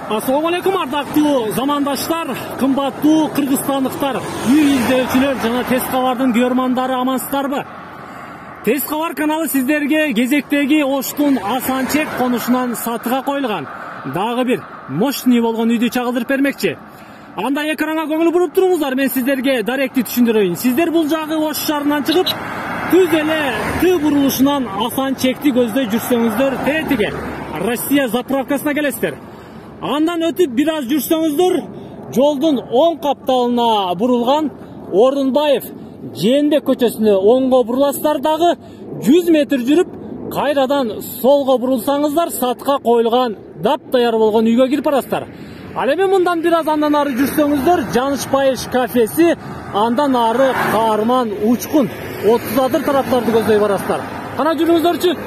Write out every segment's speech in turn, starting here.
Assalomu alaykum ардактуу замандаштар, кымбаттуу кыргызстандыктар, үй издөчүлөр жана Тез кабардын көрөрмандары амансыздарбы? Тез кабар каналы сиздерге кезектеги Оштун Асанчек конушунан сатыга коюлган дагы бир мощный болгон үйдү чагылдырып бермекчи. Анда экранга көңүл буруп туруңуздар, мен сиздерге даректи түшүндүрөйүн. Сиздер бул жагы Ош шаарынан чыгып, түз эле Т бурулушунан Асанчекти көздөй жүрсөңүздөр, тетиге Россия заправкасына келесиздер. Андан өтүп бир аз жүрсөңүздөр, жолдун оң капталына бурулган Ордунбаев Жээнбек көчөсүнө оңго буруласыздар, дагы 100 метр жүрүп, кайрадан солго бурулсаңыздар, сатка коюлган дап-даяр болгон үйгө кирип барасыздар. Ал эми мындан бир аз андан ары жүрсөңүздөр, Жанышбаев кафеси, андан ары Каарман, Учкун, 30 адыр тараптарды көздөй барасыздар. Кана жүрүңүздөрчү.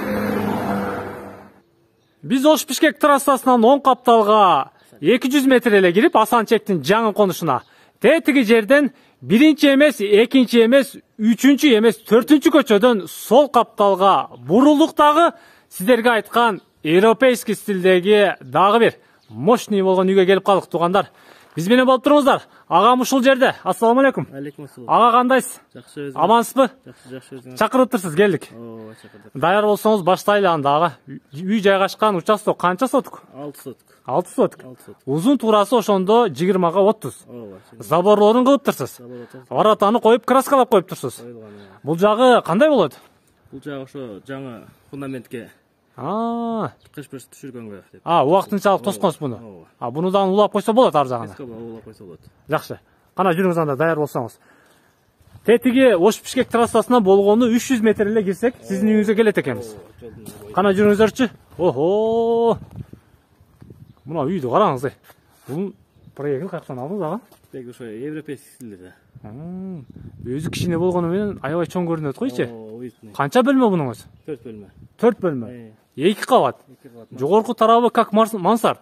Биз Ош Бишкек трассасынан оң капталга 200 метр эле кирип, Асанчектин жаңы конушуна. Тетиги жерден биринчи эмес, экинчи эмес, үчүнчү эмес, төртүнчү көчөдөн сол капталга бурулдук, дагы сиздерге айткан европейский стилдеги дагы бир мощный болгон үйгө келип калдык, туугандар. Биз менен болуп туруңуздар. Агам ушул жерде. Ассаламу алейкум. Алейкум ассалам. Ага, кандайсыз? Жакшы, өзүң? Амансызбы? Жакшы, өзүң? Чакырып турсуз, келдик. Ооба, чакырдык. Даяр болсоңуз баштайлы анда. Ага, үй жайгашкан участок канча сотук? 6 сотук. 6 сотук. 6 сотук. Узун туурасы ошондо 20га 30. Ооба. Заборлорун кылып турсуз. Воротаны коюп, краскалап коюп турсуз. Бул жагы кандай болот? Бул жагы ошо жаңы фундаментке кыш-пыш түшүргөнгө деп. Убактынчалык тосконсуз буну. Буну дагы улап койсо болот ар жагына. Улап койсо болот. Жакшы. Кана жүрүңүз анда, даяр болсоңуз. Тетиги Ош Бишкек трассасына болгону 300 метр эле кирсек, сиздин үйүңүзгө келет экенбиз. Кана жүрүңүздөрчү. Охо. Мына үйдү караңыз. Бул проект каяктан алдыңыз ага? Тек ошо европейский стилде. Өзү кичине болгону менен аябай чоң көрүнөт койчу. Канча бөлмө бунуңуз? 4 бөлмө. 4 бөлмө. 2 кабат. Жогорку тарабы как мансард. Мансард.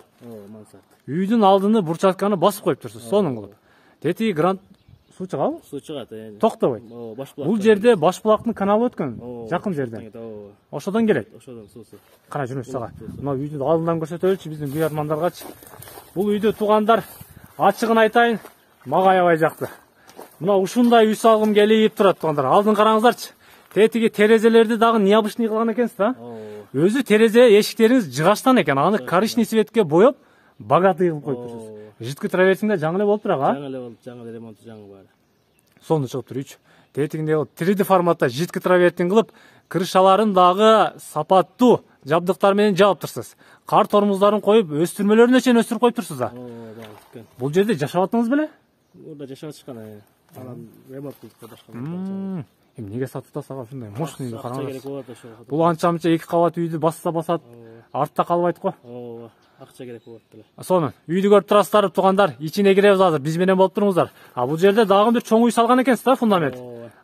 Үйдүн алдыны бурчатканы басып коюп турсуз, сонун кылып. Тетиги грант суу чыгабы? Суу чыгат. Токтобойт. Бул жерде Башбулактын каналы өткөн, жакын жерден. Ошодон келет. Ошодон суусу. Кана жүрүңүз сага. Мына үйдү алдынан көрсөтөлүчү биздин көрөрмандаргачы. Бул үйдү, туугандар, ачыгын айтайын, мага аябай жакты. Мына ушундай үй салгым келип турат, туугандар. Алдын караңыздарчы. Тетиги терезелерди дагы необычный кылган экенсиз да? Өзү терезе эшиктериңиз жыгачтан экен. Аны коричневый цветке боеп, богатый кылып коюптурсуз. Жидкий траверсиңде жаңы эле болуп турат, Жаңы эле болуп, жаңы ремонту жаңы баары. Сонун чыгып турчу. Тетигинде 3D форматта жидкий травертин кылып, крышаларын дагы сапаттуу жабдыктар менен жаап турсуз. Кар тормуздарын коюп, өстүрмөлөрүнө чейин өстүрүп коюп турсуз да. Бул жерде жашап аттыңыз беле? Мурда жашап атышкан. Анан ремонт кылып башка. Эмнеге сатып тастага ушундай мощный караңыз. Бул анча-мынча 2 кабат үйдү басса басат, артта калбайт го. Ооба, акча керек болот деле. Сонун. Үйдү көрүп турасыздар, туугандар. Ичине киребиз азыр. Биз менен болуп туруңуздар. Бул жерде дагы бир чоң үй салган экенсиз да, фундамент.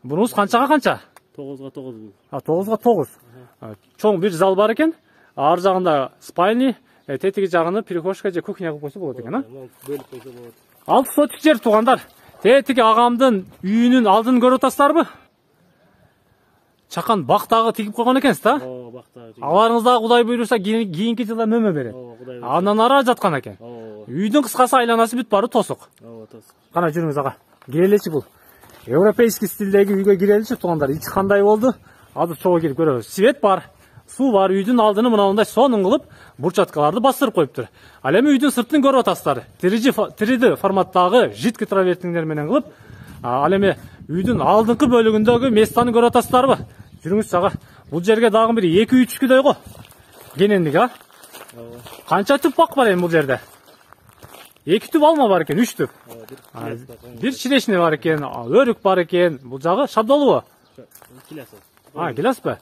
Бунуңуз канчага канча? 9га 9 бул. 9га 9. Чоң бир зал бар экен. Ар жагында спальни, тетиги жагыны прихожка же кухня кылып койсо болот экен, Бөлүп койсо болот. 6 сотик жер, туугандар. Тетиги агамдын үйүнүн алдын көрүп атасыздарбы? Чакан бактагы тигип койгон экенсиз да? Бактагы. Аларыңыз дагы Кудай буйруса кийинки жылда мөмө берет. Андан ара жаткан экен. Үйдүн кыскасы айланасы бүт бары тосук. Тосук. Кана жүрүңүз ага. Киреличи бул. Европейский стилдеги үйгө киреличи, туугандар. Ичи кандай болду? Азыр чогуу кирип көрөбүз. Свет бар, суу бар, үйдүн алдыны мындай сонун кылып, бурчаткаларды бастырып коюптур. Ал эми үйдүн сыртын көрүп атасыздар. 3D форматтагы жидкий травертиңдер менен кылып, ал эми үйдүн алдыңкы бөлүгүндөгү местаны көрүп атасыздарбы? Жүрүңүз сага. Бул жерге дагы бир 2-3 күдөй го. Кенендик, Канча түп бак бар эми бул жерде? 2 түп алма бар экен, 3 түп. Бир чирешне бар экен, өрүк бар экен. Бул жагы шабдолубу? Гиляс ба?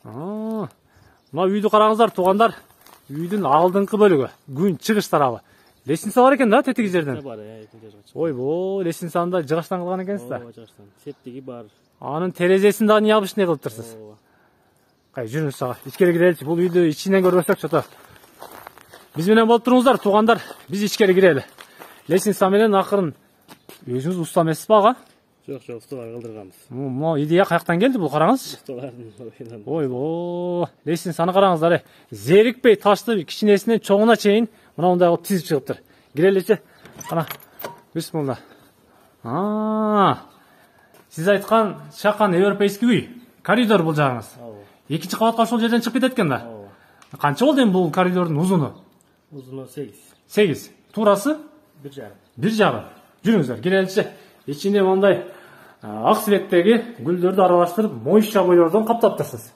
Мына үйдү караңыздар, туугандар. Үйдүн алдыңкы бөлүгү, күн чыгыш тарабы. Лестница бар экен да, тетиги жерден. Ойбо, лестницаны да жыгачтан кылган экенсиз да. Жыгачтан. Септиги бар. Анын терезесин да необычный кылып турсуз. Жүрүңүз сага. Ичкери киреличи. Бул үйдү ичинен көрбөсөк чото. Биз менен болуп туруңуздар, туугандар. Биз ичкери кирели. Лестница менен акырын. Өзүңүз уста эмессизби ага? Жок, усталар кылдырганбыз. Могу идея каяктан келди бул, караңыз. Усталардын ойбо, лестницаны караңыздар. Зерикпей ташты кичинесинен чоңуна чейин Мына мындай кылып тизип чыгыптыр. Киреличи. Кана. Бисмилла. Сиз айткан чакан европейский үй. Коридор бул жагыңыз. Экинчи кабатка ошол жерден чыгып кетет экен да. Канча болду эми бул коридордун узуну? Узуну 8. 8. Туурасы 1,5. 1,5. Жүрүңүздөр, киреличи. Ичинде мындай ак светтеги гүлдөрдү аралаштырып, моюшча бойлордон каптаптырсыз.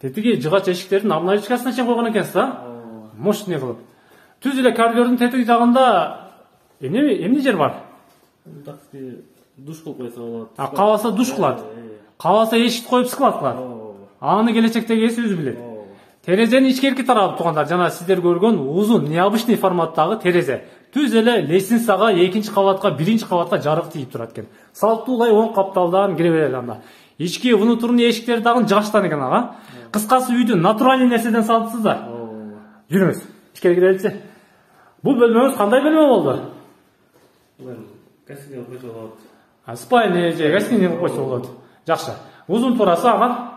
Тетиги жыгач эшиктердин обналичкасына чейин койгон экенсиз да? Мощный кылып. Түз эле коридордун тетиги жагында эмне жер бар? Душ кылып койсо болот. Кааласа душ кылат. Кааласа эшикти коюп скват кылат. Аны келечектеги эси өзү билет. Терезенин ичкерки тарабы туугандар, жана сиздер көргөн узун необычный форматтагы терезе. Түз эле лестницага, экинчи кабатка, биринчи кабатка жарык тийип турат экен. Салттуулай оң капталдан кире берели анда. Ички внутренний эшиктери дагы жыгачтан экен ага. Кыскасы үйдү натуральный нерседен салыпсыздар. Жүрүңүз, ичкери киреличи. Бул бөлмөңүз кандай бөлмө болду? Гостиный койсо болот. Спальня же гостиный койсо болот. Жакшы. Узун туурасы ага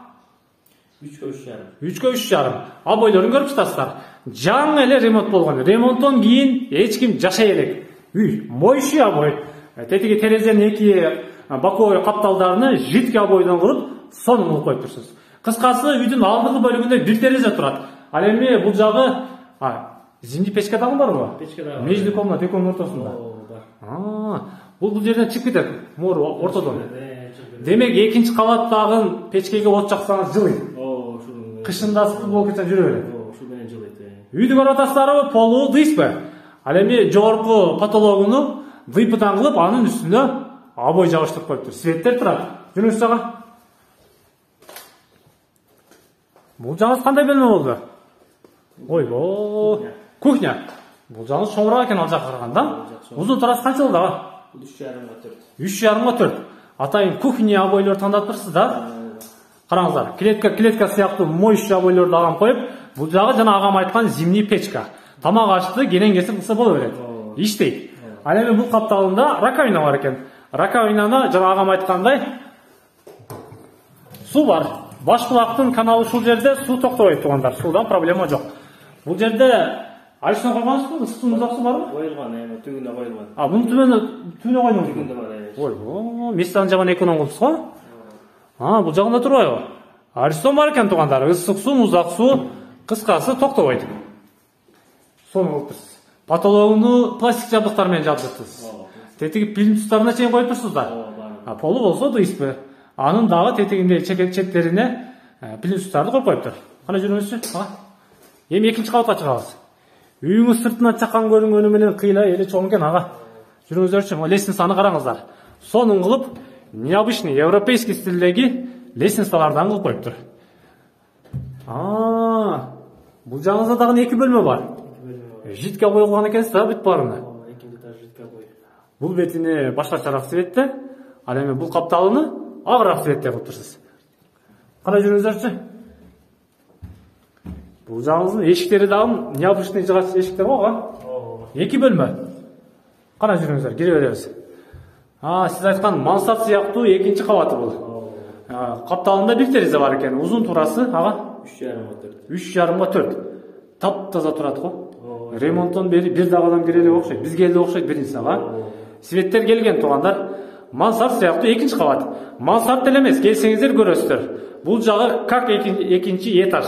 3,5. 3,5. Бойлорун көрүп жатасыздар. Жаңы эле ремонт болгон. Ремонттон кийин эч ким жашай элек. Үй моющий обой. Тетиги терезенин эки боковой капталдарыны жидкий обойдон кылып, сонун кылып коюп турсуз. Кыскасы үйдүн алдыңкы бөлүгүндө бир терезе турат. Ал эми бул жагы зимний печка дагы барбы? Печка дагы. Между комната экөөнүн ортосунда. Бул жерден чыгып кетет. Мор ортодон. Демек экинчи кабаттагы печкеге от жаксаңыз жылыйт. Кышында ысык болуп кетсе жүрө берет. Ушул менен жылыйт. Үйдү көрүп атасыздарбы? Полу дыйспы. Ал эми жогорку потологуну дыйпыдан кылып, анын үстүнө обой жабыштырып коюптур. Светтер турат. Жүрүңүз жага. Бул жагыңыз кандай бөлмө болду? Ойбо, кухня. Бул жагыңыз чоңураак экен ал жакка караганда. Узун турасы канча болду ага? 3,5-4. 3,5-4. Атайын кухня обойлор тандаттырсыз да? Караңыздар, клетка сыяктуу моющий обойлорду агам коюп, бул жагы жана агам айткан зимний печка. Тамак ашты, кенен кесип кылса боло берет. Иштейт. Ал эми бул капталында раковина бар экен. Раковинаны жана агам айткандай суу бар. Башкулактын каналы ушул жерде, суу токтобойт туугандар. Суудан проблема жок. Бул жерде айшына койгонсузбу? Ысык суу, муздак суу барбы? Коюлган, түбүнө коюлган. Мунун түбүнө койдуңуз. Түбүндө бар. Ойбо, местан жаман экономия кылыпсыз го? Бул жагында турбайбы? Арыстан бар экен туугандар. Ысык суу, муздак суу, кыскасы токтобойт. Сону кылыптырсыз. Потологуну пластик жабдыктар менен жабдырыптырсыз. Тетиги плинтустарына чейин коюп турсуздар. Полу болсо дыйспы. Анын дагы тетигинде четтерине плинтустарды коюп коюптур. Кана жүрүңүзчү. Эми экинчи кабатка чыгабыз. Үйүңүз сыртынан чакан көрүнгөнү менен кыйла эли чоң экен ага. Жүрүңүздөрчү, лестницаны караңыздар. Сонун кылып, необычный европейский стилдеги лестницалардан кылып коюптур. Бул жагыңызда дагы эки бөлмө бар. Жидке койгон экенсиз да бүт баарына. Экинчи этаж жидке бой. Бул бетине башкачараак светте, ал эми бул капталыны агыраак светте кылып турсуз. Кана жүрүңүздөрчү. Бул жагыңыздын эшиктери дагы необычный жыгач эшиктер го. Эки бөлмө. Кана жүрүңүздөр, кире беребиз. Сиз айткан мансард сыяктуу экинчи кабаты бул. Капталында бир терезе бар экен. Узун турасы ага 3,5-4. 3,5-4. Таптаза турат го. Ремонттон бери бир дагы адам кире эле окшойт. Бизге эле окшойт биринчиси ага. Светтер келген туугандар. Мансард сыяктуу экинчи кабат. Мансард эле эмес, келсеңиздер көрөсүздөр. Бул жагы как экинчи этаж.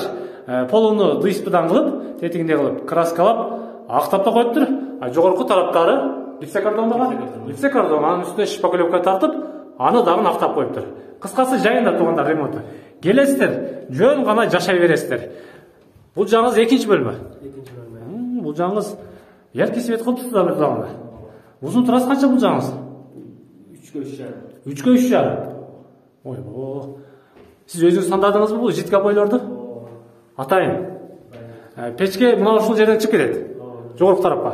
Полуну дыйспыдан кылып, тетигинде кылып, краскалап, актап да коюптур. Жогорку тараптары липсекардон бар. Липсекардон анын үстүнө шпаклевка тартып, аны дагы актап коюптур. Кыскасы жайында туугандар ремонту. Келесиздер, жөн гана жашай бересиздер. Бул жагыңыз экинчи бөлмө. Экинчи бөлмө. Бул жагыңыз яркий свет кылыпсыздар бир дагы. Узун турасы канча бул жагыңыз? 3,5. 3,5. Ойбо. Сиз өзүңүз тандадыңызбы бул жидке бойлорду? Атайын. Печке мына ушул жерден чыгып кетет. Жогорку тарапка.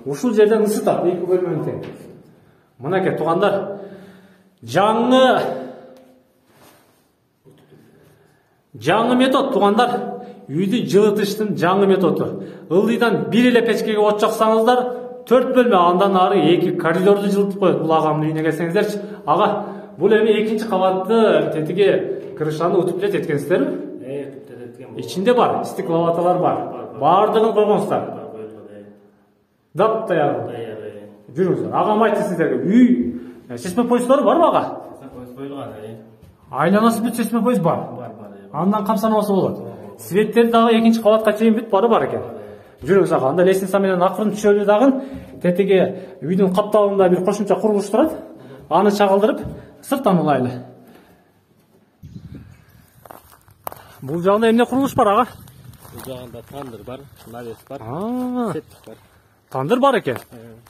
Ушул жерден ысытат эки бөлмөнү тең. Мынакей туугандар, жаңы метод туугандар, үйдү жылытыштын жаңы методу. Ылдыйдан бир эле печкеге от жаксаңыздар, 4 бөлмө, андан ары 2 коридорду жылытып коет. Бул агамдын үйүнө келсеңиздерчи, ага, бул эми экинчи кабатты тетиги крышаны утуп эле теткенсиздерби? Ичинде бар, стекловаталар бар. Баардыгын койгонсуздар. Дап даяр. Жүрүңүздөр. Агам айтты сиздерге. Үй чечме поезддары барбы ага? Поезд коюлган. Айланасы бүт чечме поезд бар. Андан камсанабаса болот. Светтер дагы экинчи кабатка чейин бүт бары бар экен. Жүрүңүз ага. Анда лестница менен акырын түшөлү дагы. Тетеге үйдүн капталында бир кошумча курулуш турат. Аны чагылдырып, сырттан улайлы. Бул жагында эмне курулуш бар ага? Бул жагында тандыр бар, навес бар, септик бар. Тандыр бар экен.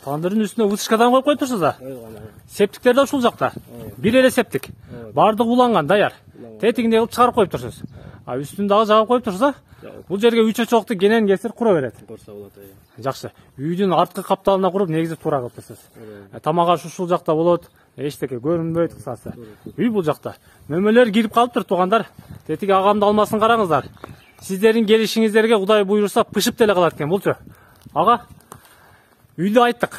Тандырдын үстүнө вытяжкадан коюп коюптурсуз да? Септиктер да ушул жакта. Бир эле септик. Бардыгы уланган, даяр. Тетигинде кылып чыгарып коюптурсуз. А үстүн дагы жагып коюптурсуз а? Бул жерге 3 очокту кенен кесир кура берет. Корса болот. Жакшы. Үйдүн арткы капталына куруп негизип туура кылыптырсыз. Тамак аш ушул жакта болот. Эчтеке көрүнбөйт кысасы. Үй бул жакта. Мөмөлөр кирип калыптыр туугандар. Тетиги агамды алмасын караңыздар. Сиздердин келишиңиздерге Кудай буйруса пышып деле калат экен булчу. Ага. Үйдү айттык.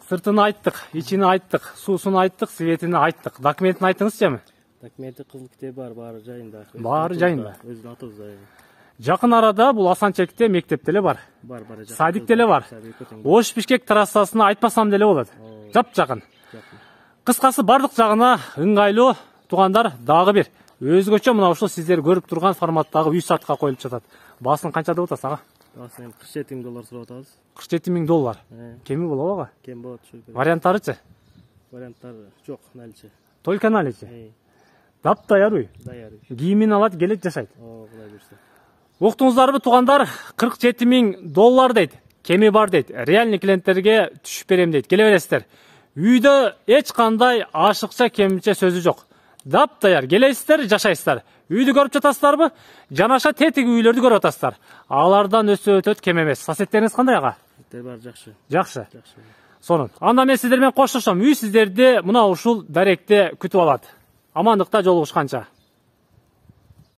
Сыртын айттык, ичини айттык, суусун айттык, светини айттык. Документин айттыңызчы эми? Документи кызыл китеби бар, баары жайында. Баары жайында. Өзүнүн атыбызда. Жакын арада бул Асанчекте мектеп деле бар. Бар. Садик деле бар. Ош Бишкек трассасына айтпасам деле болот. Жап-жакын. Кыскасы бардык жагына ыңгайлуу туугандар дагы бир. Өзгөчө мына ушул сиздер көрүп турган форматтагы үй сатка коюлуп жатат. Баасын канча деп атасыз ага? Баасын $47,000 сурап атабыз. $47,000. Кеми болобу ага? Кем болот. Варианттарычы? Варианттар жок, наличи. Только наличи. Дап даяр үй. Даяр. Кийимин алат, келет, жашайт. Кудай буйруса. Уктуңуздарбы туугандар? $47,000 дейт. Кеми бар дейт. Реальный клиенттерге түшүп берем дейт. Келе бересиздер. Үйдө эч кандай ашыкча кемче сөзү жок. Дап даяр. Келесиздер, жашайсыздар. Үйдү көрүп жатасыздарбы? Жанаша тетиги үйлөрдү көрүп атасыздар. Алардан өсө өтөт кем эмес. Соседтериңиз кандай ага? Бар, жакшы. Жакшы. Сонун. Анда мен сиздер менен коштошом. Үй сиздерди мына ушул даректе күтүп алат. Амандыкта жолугушканча.